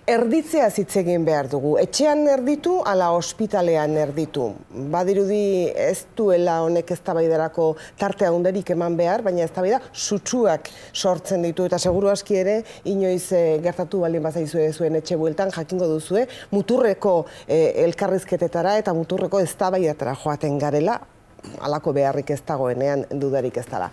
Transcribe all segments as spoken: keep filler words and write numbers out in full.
erditzea hitz egin behar dugu. Etxean erditu, ala ospitalean erditu. Badirudi ez duela honek eztabaidarako tarte handerik eman behar, baina eztabaida sutsuak sortzen ditu, eta seguru aski ere, inoiz gertatu baldin bazaizue zuen etxe bueltan, jakingo duzue, muturreko elkarrizketetara eta muturreko eztabaidatara joaten garela, halako beharrik ez dagoenean dudarik ez dela.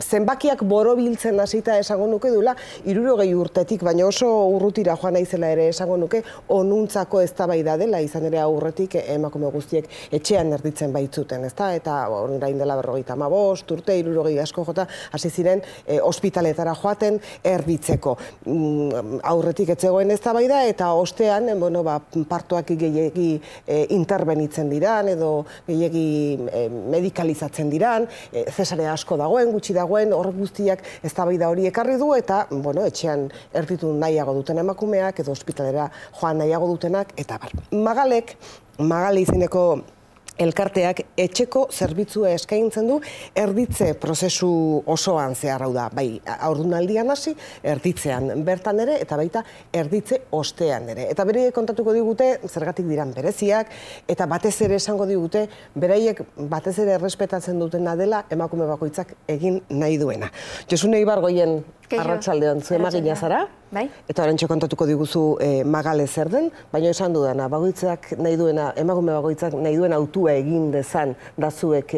Zenbakiak borobiltzen hasita esango nuke duela, hirurogei urtetik, baina oso urrutira joan naizela ere esango nuke, onuntzako eztabaida dela, izan ere aurretik emakume guztiek etxean erditzen baitzuten, ezta? Eta orain dela berrogeita hamabost urte, hirurogei asko jota, hasi ziren ospitaletara joaten erditzeko. Aurretik ez zegoen eztabaida eta ostean, bueno, ba, partoak gehiegi interbenitzen diran, edo gehiegi medikalizatzen diran, zesarea asko dagoen, gutxi dagoen, horrek guztiak eztabaida hori ekarri du, eta, bueno, etxean erditu nahiago duten emakumeak, edo ospitalera joan nahiago dutenak, eta bar. Magalek, Magale izeneko elkarteak etxeko zerbitzua eskaintzen du erditze prozesu osoan zehar, hau da, bai, haurdunaldian hasi, erditzean bertan ere, eta baita erditze ostean ere. Eta beraiek kontatuko digute, zergatik diran bereziak, eta batez ere esango digute, beraiek batez ere errespetatzen dutena dela emakume bakoitzak egin nahi duena. Josune Ibargoien arratsaldean zu emagina zara, eta oraintxe kontatuko diguzu Magale zer den, baina esan dudana, bakoitzak nahi duena, emakume bakoitzak nahi duena autua egin dezan da zuek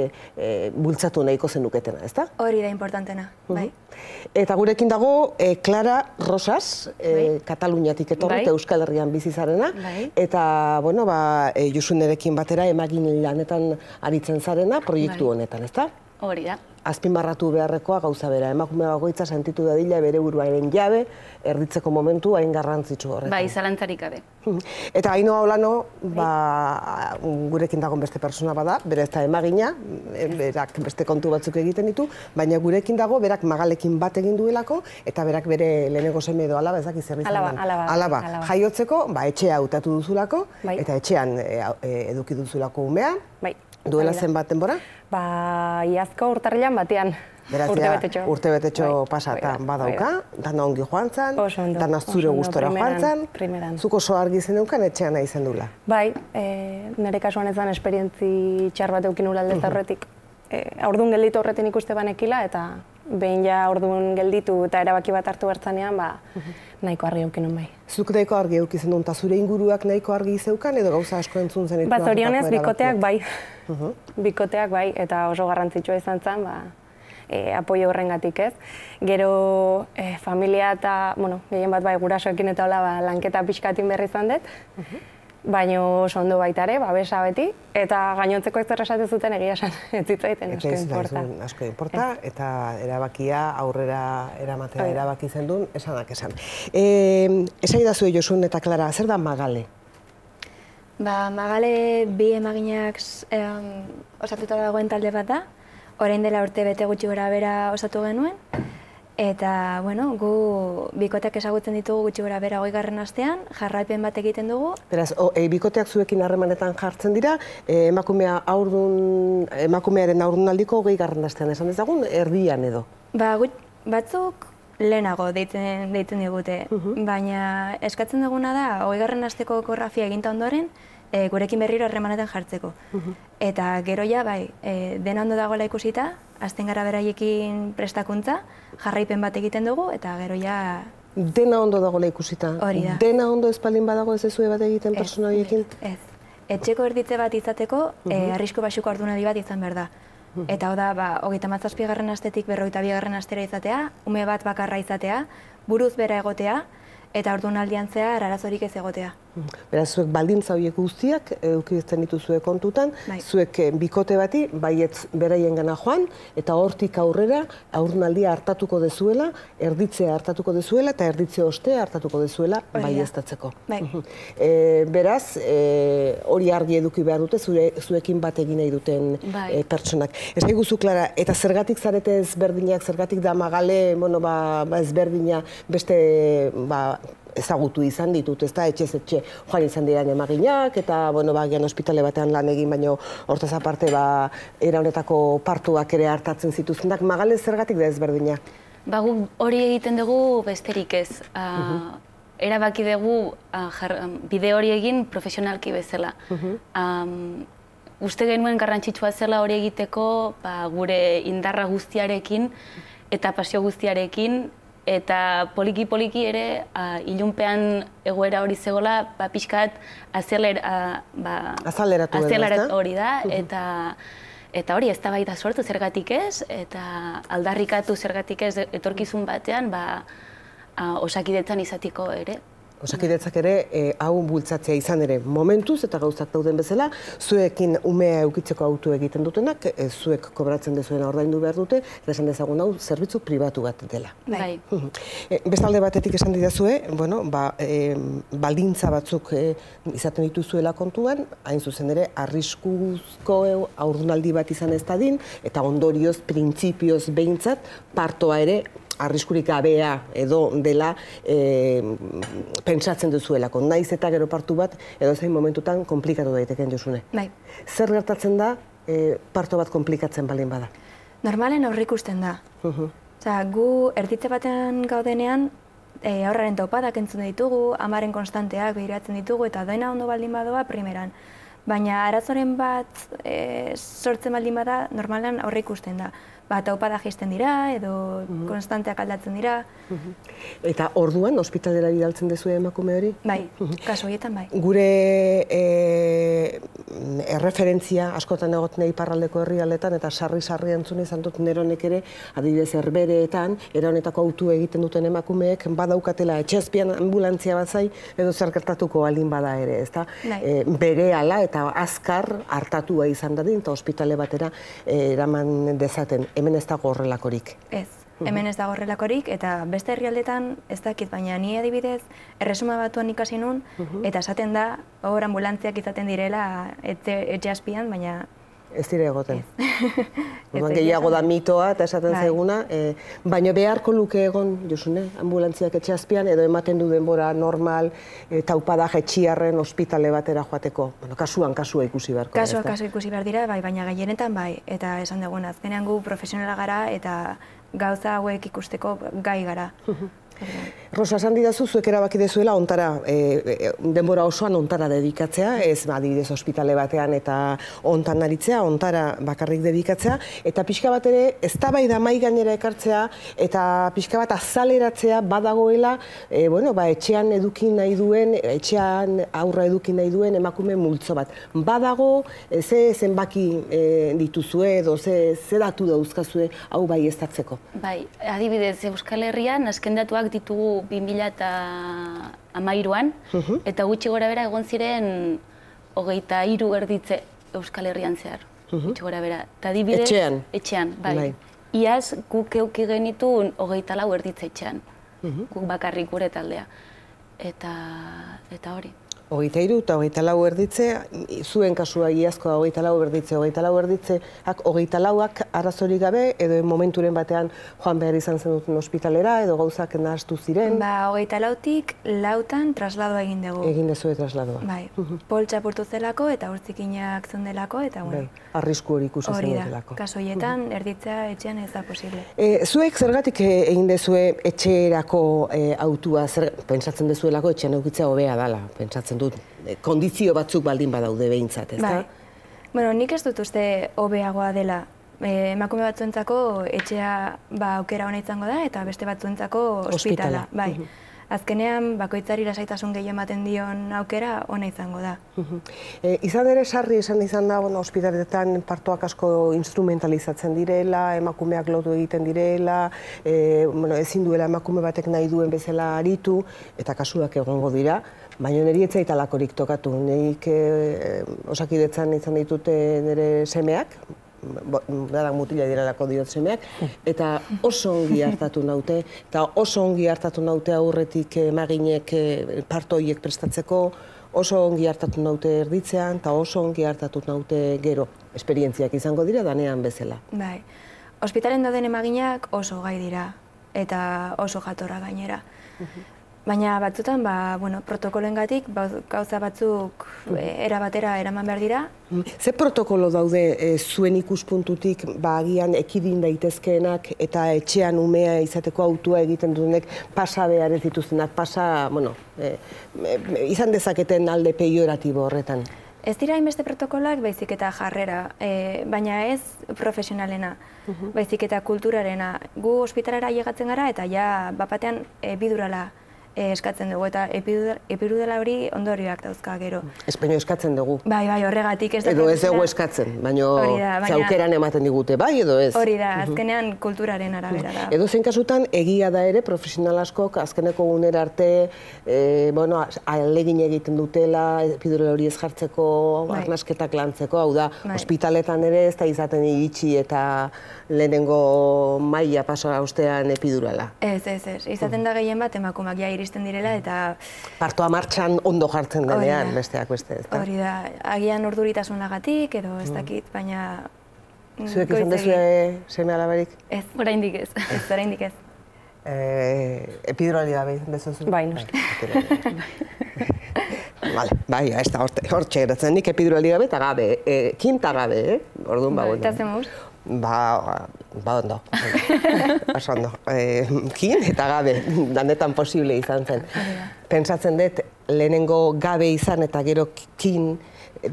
bultzatu nahiko zenuketena, ezta? Hori da importantena, bai. Eta gurekin dago Clara Rosas, Kataluniatik etorri, Euskal Herrian bizi zarena, eta, bueno, Josunerekin batera emagin lanetan aritzen zarena proiektu honetan, ezta? Hori da. Azpimarratu beharrekoa gauza bera, emakume bakoitza sentitu dadila bere buruaren jabe, erditzeko momentu hain garrantzitsu horretan. Bai, zalantzarik gabe. Eta Ainhoa Olano, gurekin dagoen beste persona bada, bere ez da emagina, berak beste kontu batzuk egiten ditu, baina gurekin dago, berak Magalekin bat egin duelako, eta berak bere lehenengo seme edo alaba, ezak izan den. Alaba. Jaiotzeko, etxea hautatu duzulako, eta etxean eduki duzulako umea. Duela zenbat denbora? Ba, iazko urtarrilan batean. Berazia, urtebetetxo pasatan badauka, dana ongi joan zan, dana zure gustora joan zan, zuko oso argi zeneukan etxean nahi zen dula. Bai, nire kasuan ez zan esperientzi txar bat eukin ula aldez horretik. Aurdun gelditu horretin ikuste banekila, eta behin ja aurdun gelditu eta erabaki bat hartu bertzanean, ba, nahiko argi eukin bai. Zuk nahiko argi euki zen duen, eta zure inguruak nahiko argi zeukan, edo gauza asko entzun zen? Ba, zorionez, bikoteak bai. Bikoteak bai, eta oso garrantzitsua izan zen, ba, apoio horrengatik ez. Gero familia eta, bueno, gehien bat bai gurasoekin eta hola lanketa pixkatin berri izan dut, baina oso ondo baita ere, babesa beti, eta gainontzeko ez errasate zuten egia esan, ez zitzaiten asko inporta. Asko inporta, eta erabakia aurrera eramatea erabaki zen duen, esanak esan. Esaidazu Josun eta Clara, zer da Magale? Ba, Magale bi emaginak osatuta dagoen talde bat da, orain dela urte bete gutxi gora bera osatu genuen, eta, bueno, gu bikoteak ezagutzen ditugu gutxi gora bera hogeigarren astean, jarraipen bat egiten dugu. Beraz, bikoteak zuekin harremanetan jartzen dira, emakumearen aurdunaldiko hogeigarren astean esan dezagun, erdian edo? Ba, batzuk lehenago deitzen digute, baina eskatzen duguna da, hogeigarren asteko ekografia eginta ondoren, gurekin berriro harremanetan jartzeko. Eta gero ja, bai, dena ondo dagoela ikusita, azten gara beraiekin prestakuntza, jarraipen bat egiten dugu, eta gero ja... Dena ondo dagoela ikusita? Hori da. Dena ondo espaldin badago ez ezue bat egiten persona horiekin? Ez. Etxeko erditze bat izateko, arrisku baxuko haurdunaldi bat izan behar da. Eta hau da, hogeita hamazazpigarren astetik berrogeita bigarren astera izatea, ume bat bakarra izatea, buruz bera egotea, eta haurdunaldian zehar arazorik ez egotea. Beraz, zuek baldintza horiek guztiak eukidezten dituzue kontutan, zuek bikote bati, baietz beraien gana joan, eta hortik aurrera haurdunaldia hartatuko dezuela, erditzea hartatuko dezuela, eta erditze ostea hartatuko dezuela baieztatzeko. Beraz, hori argi eduki behar dute, zuekin bat egin nahi duten pertsonak. Ez guzu, Clara, eta zergatik zarete ezberdinak, zergatik da Magale ezberdina beste ezagutu izan ditut, ez da, etxez etxe joan izan diran emaginak, eta, bueno, bagian ospitale batean lan egin, baino hortaz aparte, era honetako partuak ere hartatzen zituztenak. Magale zergatik da ezberdina? Ba, hori egiten dugu besterik ez. erabaki dugu bide hori egin profesionalki bezala. Uste genuen garrantzitsua zela hori egiteko gure indarra guztiarekin eta pasio guztiarekin, eta poliki-poliki ere ilunpean egoera hori zegoela pixkat azeleratu hori da, eta hori eztabaida sortu zergatik ez, eta aldarrikatu zergatik ez etorkizun batean Osakidetzan izatiko ere. Osakidetzak ere hau bultzatzea izan ere momentuz eta gauzak dauden bezala, zuekin umea eukitzeko autu egiten dutenak, zuek kobratzen dezuena ordaindu behar dute, eta esan dezagun hau zerbitzu pribatu bat dela. Bai. Bestalde batetik esan didazue, baldintza batzuk izaten dituzuela kontuan, hain zuzen ere, arriskuzko haurdunaldi bat izan ez dadin, eta ondorioz, printzipioz behintzat, partoa ere, arriskurik gabea edo dela pentsatzen duzuelako. Naiz eta gero partu bat, edo zein momentutan komplikatu daiteken Josune. Bai. Zer gertatzen da parto bat komplikatzen baldin bada? Normalen aurrikusten da. Gu erditze batean gaudenean, aurraren taupadak entzun ditugu, amaren konstanteak behiratzen ditugu, eta doina ondo baldin badoa primeran. Baina arazoren bat sortzen baldin bada, normalen aurrikusten da. Taupada jaisten dira, edo konstanteak aldatzen dira. Eta orduan, ospitalera bidaltzen dezu emakume hori? Bai, kasu horietan bai. Gure erreferentzia askotan egoten iparraldeko herrialdetan, eta sarri-sarri entzun izan dut neronek ere, adibidez herbereetan, era honetako autu egiten duten emakumeek, badaukatela etxezpian ambulantzia bat zai, edo zer gertatuko baldin bada ere, ezta? Berehala eta azkar hartatua izan dadin, eta ospitale batera eraman dezaten. Hemen ez dago horrelakorik. Ez, hemen ez dago horrelakorik, eta beste herrialdetan ez dakit, baina ni adibidez erresuma batuan ikasi nun, eta esaten da, hor ambulantziak izaten direla etxe azpian, baina ez dire egoten. Gehiago da mitoa eta esaten zaiguna, baina beharko luke egon, Josune, ambulantziak etxe azpian, edo ematen du denbora normal, taupada jetxiarren ospitale batera joateko. Kasuan, kasua ikusi beharko. Kasua, kasua ikusi behar dira, baina gehienetan bai, eta esan dugun, azkenean gu profesionala gara, eta gauza hauek ikusteko gai gara. Rosa, esan didazu, zuek erabaki dezuela ontara, denbora osoan ontara dedikatzea, ez adibidez ospitale batean eta ontan aritzea, ontara bakarrik dedikatzea, eta pixka bat ere eztabaida mahai gainera ekartzea, eta pixka bat azaleratzea badagoela, etxean eduki nahi duen, etxean aurra eduki nahi duen emakume multzo bat. Badago, ze zenbaki dituzue edo ze datu dauzkazue hau bai eztatzeko? Bai, adibidez, Euskal Herrian azken datuak ditugu bi mila hamairuan, eta gutxi gora bera egon ziren hogeita hiru erditze Euskal Herrian zehar. Gutxi gora bera. Etxean? Etxean, bai. Iaz guk euki genituen hogeita lau erditze etxean. Guk bakarrik gure taldea. Eta hori. Hogeita hiru eta hogeita lau erditze, zuen kasua iazkoa hogeita lau erditze, hogeita lau erditzeak hogeita lauak arazorik gabe, edo momenturen batean joan behar izan zen duten ospitalera, edo gauzak nahastu ziren? Ba, hogeita lautik lautan trasladoa egin dugu. Egin dezue trasladoa. Bai, poltsa apurtu zelako eta urtzikinak zondelako, eta bueno. Arrisku hori ikusi zen delako. Kaso horietan erditzea etxean ez da posible. Zuek zergatik egin dezue etxerako autua, pentsatzen dezuelako etxean eukitzea hobea dela, pentsatzen dut, kondizio batzuk baldin badaude behintzat, ez da? Bueno, nik ez dut uste hobeagoa dela. Emakume batzuentzako etxea aukera hona izango da, eta beste batzuentzako ospitala. Bai. Azkenean, bakoitzari lasaitasun gehiago ematen dion aukera hona izango da. Izan ere sarri esan izan da, ospitaletan partoak asko instrumentalizatzen direla, emakumeak lotu egiten direla, ezin duela emakume batek nahi duen bezala aritu, eta kasuak egongo dira, baina niri ez zait alakorik tokatu. Nik Osakidetzan izan ditute nire semeak, dadak mutila direlako diot semeak, eta oso ongi hartatu naute, eta oso ongi hartatu naute aurretik emaginek partoiek prestatzeko, oso ongi hartatu naute erditzean, eta oso ongi hartatu naute gero. Esperientziak izango dira danean bezala. Bai, ospitalen dauden emaginak oso gai dira, eta oso jatorra gainera. Baina batzutan, ba, bueno, protokoloengatik gauza batzuk era batera eraman behar dira. Ze protokolo daude e, zuen ikuspuntutik ba, agian ekidin daitezkeenak eta etxean umea izateko autua egiten dutenek pasa behar ez dituztenak, pasa, bueno, e, e, izan dezaketen alde peioratibo horretan? Ez dira hainbeste protokolak, baizik eta jarrera, e, baina ez profesionalena, baizik eta kulturarena. Gu ospitalara llegatzen gara eta ja bapatean epidurala eskatzen dugu, eta epidurala hori ondorioak dauzka gero. Ez baino eskatzen dugu. Bai, bai, horregatik ez da. Edo ez dugu eskatzen, baino zaukeran ematen digute, bai edo ez? Hori da, azkenean kulturaren arabera da. Edo zein kasutan, egia da ere, profesional askok azkeneko unera arte, bueno, ahalegin egiten dutela, epidurala hori ez jartzeko, arnasketak lantzeko, hau da, ospitaletan ere ez da izaten iritsi eta lehenengo maila pasoa ostean epidurala. Ez, ez, ez. Izaten da gehien bat emakumak ja iristen direla eta... Partoa martxan ondo jartzen denean, besteak beste, ez da? Hori da, agian urduritasunagatik edo ez dakit, baina... Zuek izan dezue seme alabarik? Ez. Oraindik ez. Ez, oraindik ez. Epidurali gabe izan dezu? Bai, noski. Vale, bai, ez da, hortxe geratzen nik epidurali gabe eta gabe, kinta gabe, eh? Orduan, ba, Eta zemuz? Ba, ba ondo, oso ondo. Kin eta gabe, danetan posible izan zen. Pentsatzen dut, lehenengo gabe izan eta gero kin,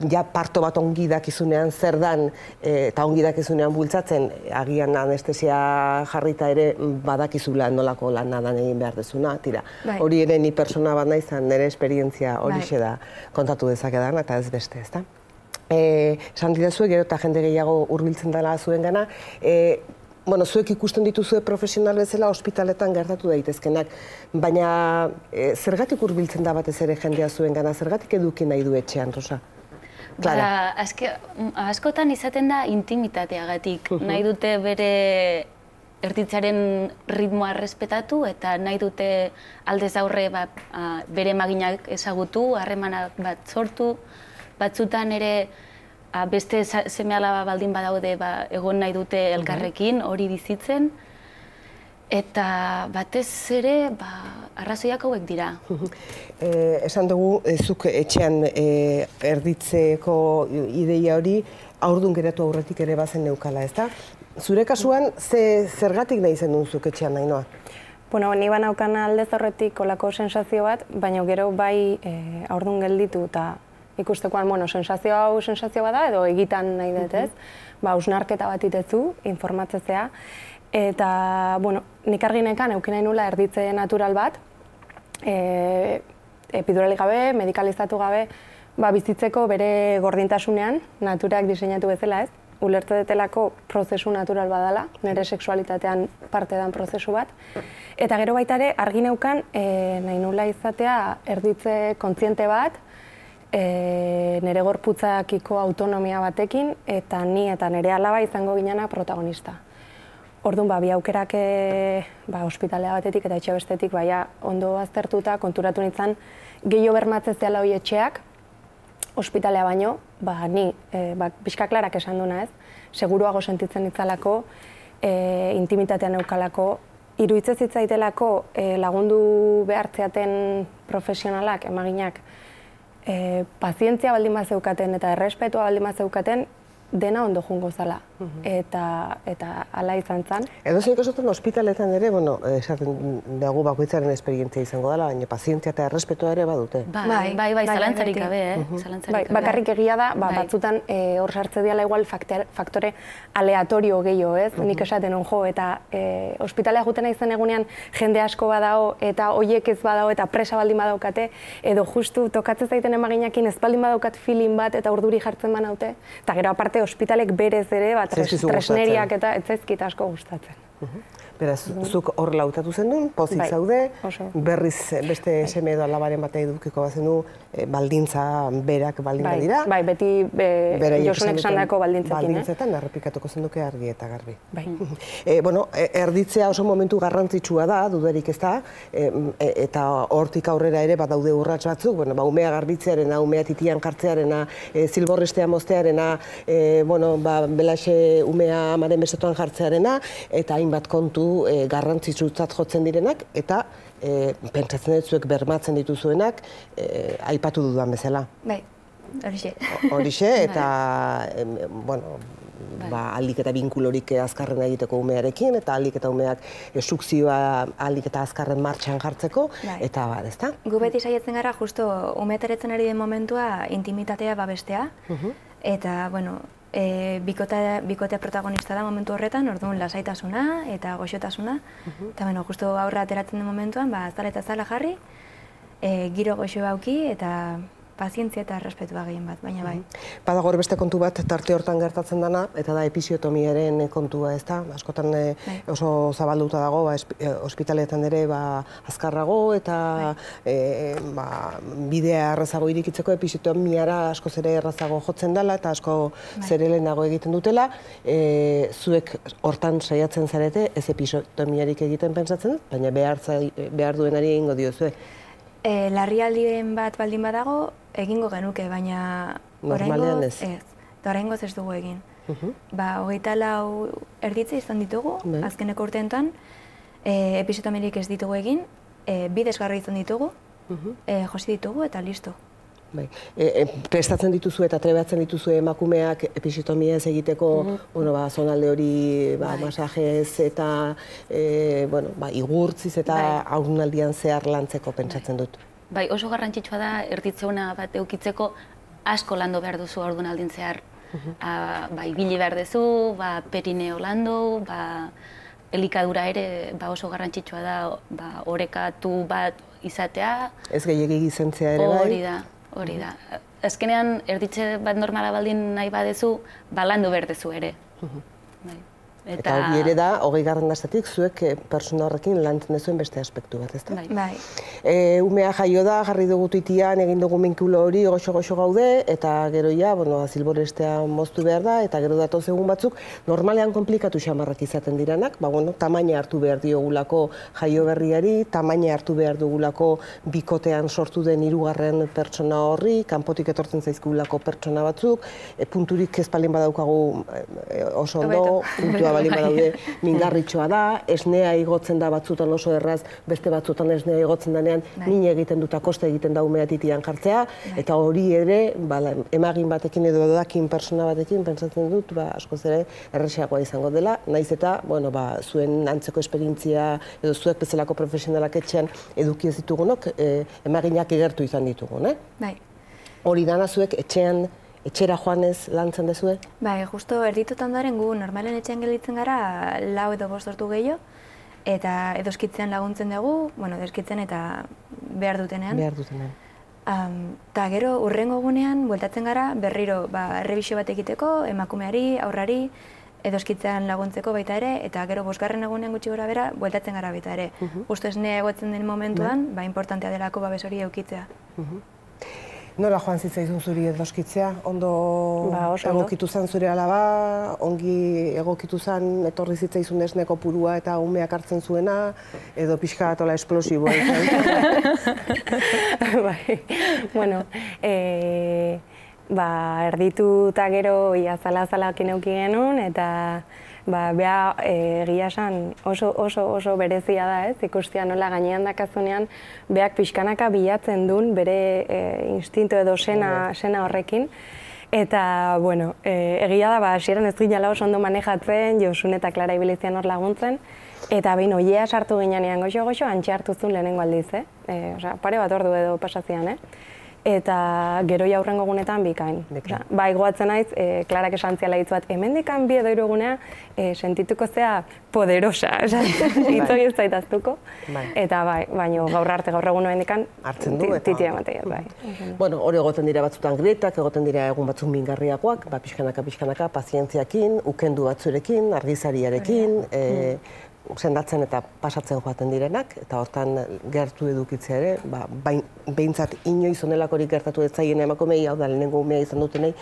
ja parto bat ongi dakizunean zer dan, eta ongi dakizunean bultzatzen, agian anestesia jarrita ere badakizula nolako lan nadan egin behar dezuna, tira. Hori ere ni persona bat naizan, nire esperientzia horixe da kontatu dezakedan, eta ez beste, ez da? Esan didazue, gero eta jende gehiago hurbiltzen dela zuen gana, bueno, zuek ikusten dituzue profesional bezala ospitaletan gertatu daitezkenak, baina zergatik hurbiltzen da batez ere jendea zuen gana, zergatik eduki nahi du etxean, Rosa? Ba, askotan izaten da intimitateagatik, nahi dute bere erditzaren ritmoa errespetatu eta nahi dute aldez aurre bere maginak ezagutu, harremana bat sortu, batzutan ere beste seme-alaba baldin badaude egon nahi dute elkarrekin, hori bizitzen, eta batez ere arrazoiak hauek dira. Esan dugu, zuk etxean erditzeko ideia hori haurdun geratu aurretik ere bazen neukala, ez da? Zure kasuan, zergatik nahi zen duen zuk etxean nahi noa? Bueno, ni banaukan aldez horretik olako sensazio bat, baina gero bai haurdun gelditu eta ikustekoan, bueno, sensazio hau sensazio bada edo egitan nahi dut, ez? Ba, hausnarketa bat itezu, informatzezea. Eta, bueno, nik arginekan eukin nahi nula erditze natural bat, epidurali gabe, medikalizatu gabe, ba, bizitzeko bere gordintasunean, naturak diseinatu bezala, ez? Ulertze detelako prozesu natural badala, nire sexualitatean parte dan prozesu bat. Eta gero baita ere, argineukan nahi nula izatea erditze kontziente bat, nire gorputzakiko autonomia batekin, eta ni eta nire alaba izango ginena protagonista. Orduan, bi aukerak ospitalea batetik eta etxe bestetik ondo aztertuta, konturatu nintzen, gehiago bermatzez dela hori etxeak, ospitalea baino, ni, pixka klarak esan duna ez, seguruago sentitzen nitzalako, intimitatean eukalako, iruditzez hitzaitelako lagundu behartzeaten profesionalak, emaginak, pazientzia baldin bat zeukaten eta errespetua baldin bat zeukaten, dena ondo jungo zala. Eta ala izan zen. Edo zein kasutan ospitaletan ere, bueno, esaten dugu bakoitzaren esperientzia izango dela, baina pazientzia eta errespetua ere badute. Bai, bai, bai, zalantzarik gabe, eh? Bakarrik egia da, batzutan hor sartze diala igual faktore aleatorio gehiago, ez? Nik esaten hon jo, eta ospitalea juten izan egunean jende asko badao, eta hoiek ez badao, eta presa baldin badaukate, edo justu tokatzen zaiten emaginakin ez baldin badaukat feeling bat, eta urduri jartzen banaute, eta gero aparte ospitalek berez ere, tresneriak eta etzaizkit asko gustatzen. Beraz, zuk hor lautatu zen duen, pozik zaude, berriz beste seme edo alabaren bat edukiko bat zen du, baldintza berak baldintza dira. Bai, beti Josunek sandako baldintzekin. Baldintzetan, errepikatuko zen duke argi eta garbi. Bueno, erditzea oso momentu garrantzitsua da, dudarik ez da, eta hortik aurrera ere badaude urrats batzuk, umea garbitzearena, umea titian jartzearena, zilborrestea moztearena, belaxe umea amaren besotoan jartzearena, eta hainbat kontu modu garrantzitsutzat jotzen direnak, eta pentsatzen dut zuek bermatzen dituzuenak, aipatu dudan bezala. Bai, horixe. Horixe, eta, bueno, aldik eta binkulorik azkarren egiteko umearekin, eta aldik eta umeak sukzioa aldik eta azkarren martxan jartzeko, eta bar, ezta? Gu beti saiatzen gara, justo umeataretzen ari den momentua intimitatea babestea, eta, bueno, bikotea protagonista da momentu horretan, orduan lasaitasuna eta goxotasuna, eta, bueno, justo aurra ateratzen den momentuan, azala eta zala jarri, giro goxo bauki, eta pazientzia eta errespetua gehien bat, baina bai. Badago beste kontu bat tarte hortan gertatzen dana, eta da episiotomiaren kontua, ez da? Askotan oso zabalduta dago, ospitaletan ere azkarrago, eta bidea errazago irikitzeko episiotomiara asko zere errazago jotzen dela, eta asko zerelenago egiten dutela. Zuek hortan saiatzen zarete, ez episiotomiarik egiten pentsatzen, baina behar duenari egingo diozue. Larrialdiren bat baldin badago, egingo genuke, baina normalean ez. Eta oraingoz ez dugu egin. Hogeita lau erditze izan ditugu, azkeneko urteetan, episiotomirik ez ditugu egin, bidezgarri izan ditugu, josi ditugu eta listo. Prestatzen dituzu eta trebatzen dituzu emakumeak episiotomia ez egiteko zonalde hori masajez eta igurtziz eta haurnaldian zehar lantzeko pentsatzen dut. Bai, oso garrantzitsua da erditzeuna bat eukitzeko asko lando behar duzu haurnaldin zehar. Bai, bili behar duzu, perineo lando, elikadura ere oso garrantzitsua da orekatu bat izatea. Ez gehiegi gizentzea ere bai? Hori da. Hori da. Azkenean, erditze bat normala baldin nahi badezu, balandu berdezu ere. Eta hori ere da, hogei garren astetik, zuek persona horrekin lantzen dezuen beste aspektu bat, ezta? Bai. Umea jaio da, jarri dugu tuitian, egin dugu minkulo hori, goxo-goxo gaude, eta gero ja, azilborestea moztu behar da, eta gero datoz egun batzuk, normalean komplikatu xamarrak izaten diranak, tamaina hartu behar diogulako jaio berriari, tamaina hartu behar dugulako bikotean sortu den hirugarren pertsona horri, kanpotik etortzen zaizkugulako pertsona batzuk, punturik ez palin badaukagu oso ondo, puntua balin badaude mingarritxoa da, esnea igotzen da batzutan oso erraz, beste batzutan esnea igotzen danean, nina egiten dut koste egiten da umea titian jartzea, eta hori ere, emagin batekin edo edakin persona batekin, pentsatzen dut, askoz ere, erresagoa izango dela, naiz eta, zuen antzeko esperientzia, edo zuek bezalako profesionalak etxean eduki ez ditugunok, emaginak egertu izan ditugun, eh? Hori dana zuek etxean etxera joanez lantzen dezue? Bai, justo erditutan daren gu normalen etxean gelditzen gara lau edo bost ordu gehiago, eta edoskitzean laguntzen dugu, bueno, edoskitzen eta behar dutenean. Behar dutenean. Eta gero, urrengo egunean, bueltatzen gara, berriro, errebisio bat egiteko, emakumeari, aurrari, edoskitzean laguntzeko baita ere, eta gero bosgarren egunean gutxi gora bera, bueltatzen gara baita ere. Justo esnea egotzen den momentuan, importantea delako babes hori eukitzea. Nola joan zitzaizun zuri edoskitzea? Ondo egokitu zen zure alaba, ongi egokitu zen etorri zitzaizun esneko purua eta umeak hartzen zuena, edo pixka atola esplosiboa izan? Bai, bueno, erditu eta gero azala-azalakin euki genuen, eta beha egia esan oso oso berezia da, ez? Ikustia nola gainean dakazunean beak pixkanaka bilatzen duen bere instinto edo sena horrekin. Eta, bueno, egia da, hasieran ez ginala oso ondo manejatzen, Josun eta Klara ibilizian hor laguntzen, eta behin oiea sartu ginean goxo-goxo, antxe hartu zuen lehenengo aldiz, eh? Osa, pare bat ordu edo pasazian, eh? Eta gero jaurrengo gunetan bikain. Ba, igoatzen naiz, Klarak esan ziala hitz bat, hemendikan bi edo hiru egunea sentituko zea poderosa, hitz hori ez zaitaztuko. Eta bai, baina gaur arte, gaur egun hemendikan titia ematea, bai. Bueno, hori egoten dira batzutan gretak, egoten dira egun batzuk mingarriakoak, pixkanaka-pixkanaka, pazientziakin, ukendu batzurekin, argizariarekin, sendatzen eta pasatzen joaten direnak, eta hortan gertu edukitzea ere, behintzat inoiz onelakorik gertatu ez zaien emakumei, hau da lehenengo umea izan dutenei,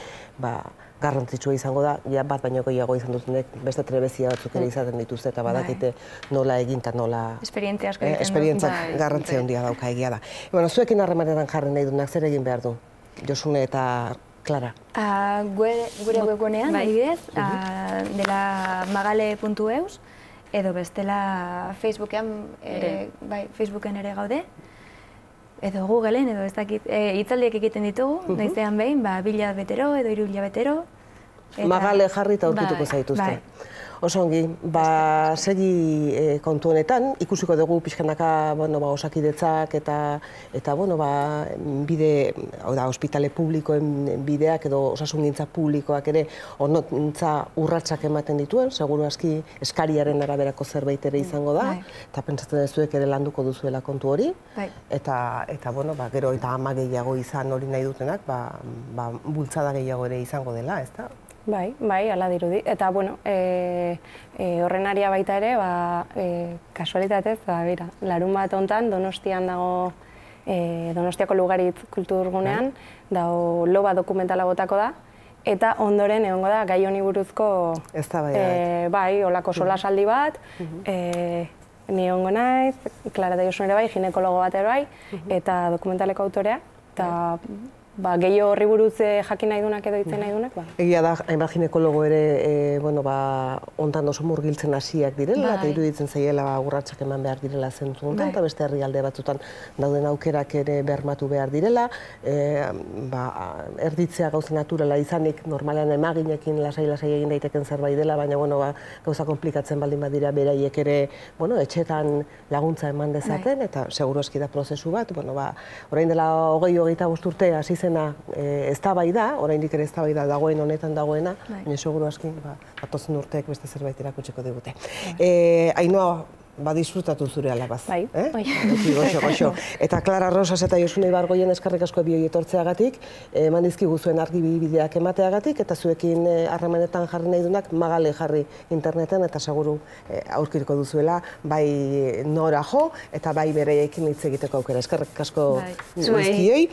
garrantzitsua izango da, bat baino gehiago izan dutenek, beste trebezia batzuk ere izaten dituzte, eta badakite nola egin eta nola... Esperientzia asko egiten du. Esperientzia garrantzia handia dauka egia da. Bueno, zuekin harremanetan jarri nahi duenak, zer egin behar du? Josune eta Klara? Gure webgunean, adibidez, dela magale puntu eus, edo bestela Facebookean, e, bai, Facebooken ere gaude, edo Googleen, edo ez dakit, e, hitzaldiak egiten ditugu, uh -huh. noizean behin, ba, bila betero edo hiru betero. Magale jarri eta aurkituko zaituzte. Bai. Oso ongi, ba, segi e, kontu honetan, ikusiko dugu pixkanaka, bueno, ba, osakidetzak eta, eta, bueno, ba, bide, hau da, ospitale publikoen bideak edo osasungintza publikoak ere onontza urratsak ematen dituen, seguru aski eskariaren araberako zerbait ere izango da, bai. Eta pentsatzen dezuek ere landuko duzuela kontu hori, bai. Eta, eta, bueno, ba, gero eta ama gehiago izan hori nahi dutenak, ba, ba, bultzada gehiago ere izango dela, ez da? Bai, bai, ala dirudi. Eta, bueno, e, e, horren aria baita ere, ba, e, kasualitatez, ba, bera, larun bat hontan Donostian dago, e, Donostiako Lugaritz kulturgunean, dago loba dokumentala botako da, eta ondoren egongo da gai honi buruzko, ez da bai, e, bai, olako solasaldi bat, e, ni egongo naiz, Clara de Josun ere bai, ginekologo bat ere bai, eta dokumentaleko autorea, eta ba, gehiago horri buruz jakin nahi dunak edo itzen nahi dunak, ba. Egia da, hainbat ginekologo ere, bueno, ba, ontan oso murgiltzen hasiak direla, eta iruditzen zaiela urratsak eman behar direla zentzu honetan, eta beste herrialde batzutan dauden aukerak ere bermatu behar direla, ba, erditzea gauza naturala izanik, normalean emaginekin lasai-lasai egin daiteken zerbait dela, baina, bueno, ba, gauza komplikatzen baldin badira beraiek ere, bueno, etxetan laguntza eman dezaten, eta seguru eski da prozesu bat, bueno, ba, orain dela hogei hogeita bost urte hasi ez da bai da, oraindik ere ez da bai da dagoen honetan dagoena, baina seguru aski, atozen urteek beste zerbait erakutsiko digute. Ainhoa, ba, disfrutatu zure alabaz. Bai, bai. Goxo, goxo. Eta Clara Rosas eta Josune Ibargoien eskerrik asko bioi etortzeagatik, eman dizkigu zuen argibideak emateagatik, eta zuekin harremanetan jarri nahi dunak Magale jarri interneten, eta seguru aurkiriko duzuela, bai nora jo, eta bai bereiekin hitz egiteko aukera. Eskerrik asko guztioi.